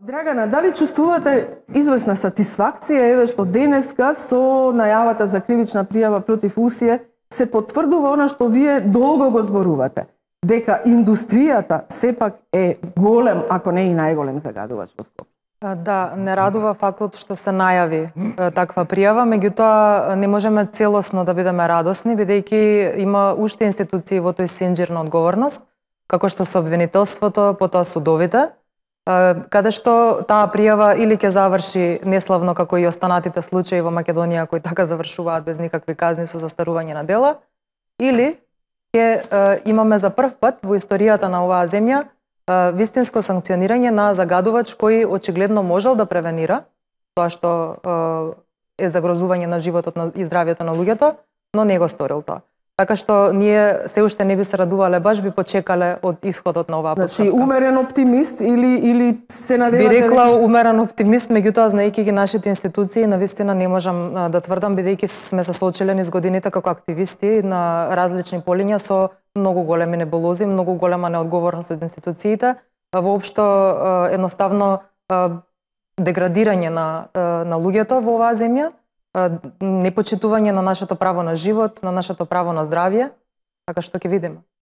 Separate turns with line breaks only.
Драгана, дали чувствувате известна сатисфакција еве што денеска со најавата за кривична пријава против УСИЕ се потврдува она што вие долго го зборувате, дека индустријата сепак е голем, ако не и најголем загадувач во Скопје?
Да, не радува фактот што се најави таква пријава, меѓутоа не можеме целосно да бидеме радосни, бидејќи има уште институции во тој синџир на одговорност, како што се обвинителството, потоа судовите, каде што таа пријава или ќе заврши неславно како и останатите случаи во Македонија кои така завршуваат без никакви казни со застарување на дела, или ќе имаме за прв пат во историјата на оваа земја вистинско санкционирање на загадувач кој очигледно можел да превенира тоа што е загрозување на животот и здравјето на луѓето, но не го сторил тоа. Така што ние се уште не би се радувале, баш би почекале од исходот на оваа постапка.
Значи умерен оптимист или се надевате?
Би рекла умерен оптимист, меѓутоа знаејќи ги нашите институции, навистина не можам да тврдам, бидејќи сме се соочиле низ годините како активисти на различни полиња со многу големи небулози, многу голема неодговорност од институциите, воопшто едноставно деградирање на луѓето во оваа земја, непочитување на нашето право на живот, на нашето право на здравје, така што ќе видиме.